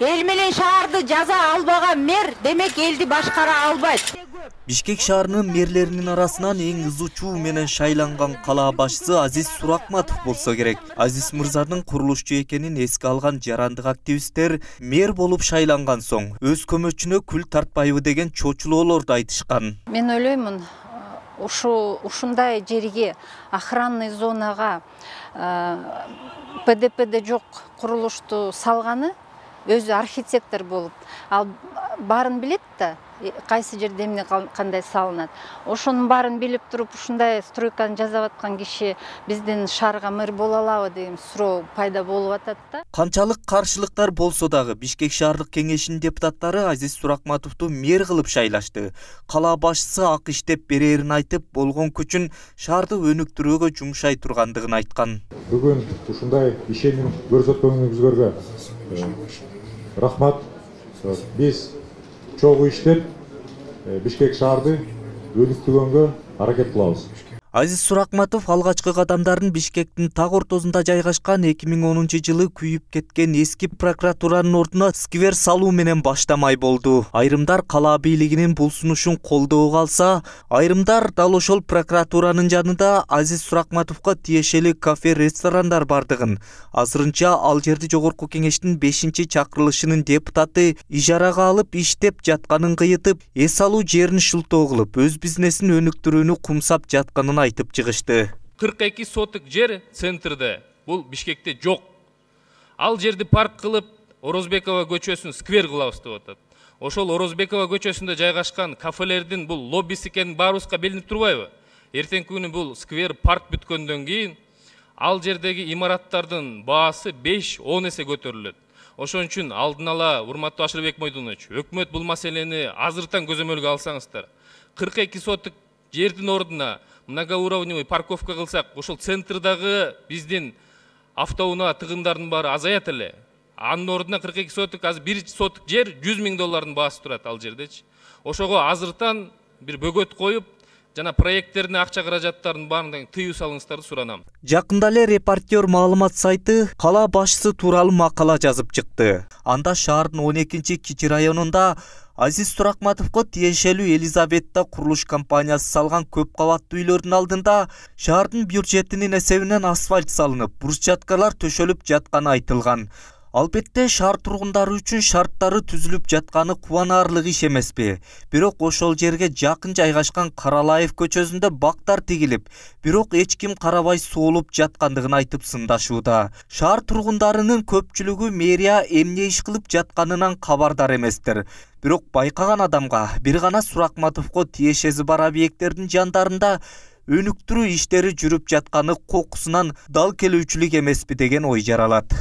Эл менен шаарды жаза албаган мэр демек элди башкара албайт. Бишкек шаарынын мэрлеринин арасынан эң ызычуу менен шайланган кала башчысы Азиз Суракматов болсо керек. Азиз мырзанын курулушчу экенин эске алган жарандык активисттер мэр болуп шайланган соң өз көмөчүнө күл тартпайбы деген чочулоолорду айтышкан. Мен ойлоймун, ушундай жерге, охранный зонага ПДПде жок курулушту салганы өзү архитектор болуп, ал баарын билет да, кайсы жерде эмне кандай салынат. Ошонун баарын билип туруп, ушундай стройканы жасап аткан киши биздин шаарга мэр боло алабы деген суроо пайда болуп атат да. Канчалык каршылыктар болсо дагы Бишкек шаардык кеңешинин депутаттары Азиз Суракматовду мэр кылып шайлашты. Кала башчысы ак иштеп берерин айтып, болгон күчүн шаарды өнүктүрүүгө жумшай тургандыгын айткан. Бүгүн ушундай ишеним көрсөткөнүңүзгө рахмат. Биз чогуу иштеп Бишкек шаарды өнүктүргөнгө аракет кылабыз. Азиз Суракматов алгачкы кадамдарын Бишкектин так ортосунда жайгашкан 2010-жылы күйүп кеткен эски прокуратуранын ордуна сквер салуу менен баштамай болду. Айрымдар кала бийлигинин бул сунушун колдоого алса, айрымдар дал ошол прокуратуранын жанында Азиз Суракматовго тиешелүү кафе-ресторандар бардыгын, азырынча ал жерди жогорку кеңештин 5-чакырылышынын депутаты ижарага алып иштеп жатканын кыйытып, эс алуу жерин шылтоо кылып, өз бизнесин өнүктүрүүнү кумсап жатканын айтып чыгышты. 42 соток жер центрде, бул Бишкекте жок. Ал жерди парк кылып, Орозбекова көчөсүн сквер кылабыз деп атат. Ошол Орозбекова көчөсүндө жайгашкан кафелердин бул лоббиси экени баарыбызга билинип турбайбы? Эртеңки күнү бул сквер парк бүткөндөн кийин ал жердеги имараттардын баасы 5-10 эсе көтөрүлөт. Ошон үчүн алдын ала, урматтуу Ашырбек Мойдонович, өкмөт бул маселени азыртан көзөмөлгө алсаңыздар. 42 соток жердин ордуна многоуровневый парковка кылсак, ошол центрдагы биздин автоунаа тыгындардын баары азаят эле. Анын ордуна 42 соток, азыр 1 соток жер $100,000 баасы турат ал жердечи. Ошого азыртан бир бөгөт коюп, жана проекттерине акча каражаттарын баарын тыюу салыңыздарды суранам. Жакында эле Репортер маалымат сайты кала башчысы тууралуу макала жазып чыкты. Анда шаардын 12-кичи районунда Азиз Суракматовго тиешелүү Елизаветта курулуш компаниясы салган көп кабаттуу үйлөрдүн алдында шаардын бюджетинин эсебинен асфальт салынып, брусчаткалар төшөлүп жатканы айтылган. Албетте шаар тургундары үчүн шарттары түзүлүп жатканы кубанаарлык иш эмеспи. Бирок ошол жерге жакын жайгашкан Каралаев көчөсүндө бактар тигилип, бирок эч ким карабай соолуп жаткандыгын айтып сындашууда. Шаар тургундарынын көпчүлүгү мэрия эмне иш кылып жатканынан кабардар эместер. Бирок байкаган адамга бир гана Суракматовго тиешеси бар объекттердин жандарында өнүктүрүү иштери жүрүп жатканы кокусунан дал келүүчүлүк эмеспи деген ой жаралат.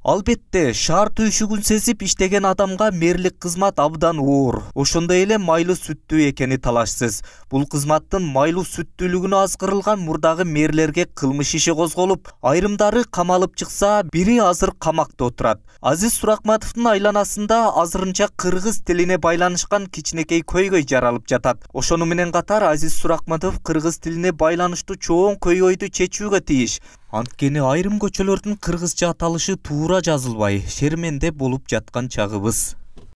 Албетте, шаар түйшүгүн сезип иштеген адамга мэрлик кызмат абдан оор. Ошондой эле майлуу сүттүү экени талашсыз. Бул кызматтын майлуу сүттүүлүгүнө азгырылган мурдагы мэрлерге кылмыш иши козголуп, айрымдары камалып чыкса, бири азыр камакта отурат. Азиз Суракматовдун айланасында азырынча кыргыз тилине байланышкан кичинекей көйгөй жаралып жатат. Ошону менен катар Азиз Суракматов кыргыз тилине байланыштуу чоң көйгөйдү чечүүгө тийиш. Анткени айрым көчөлөрдүн кыргызча аталышы туура жазылбай, шерменде болуп жаткан чагыбыз.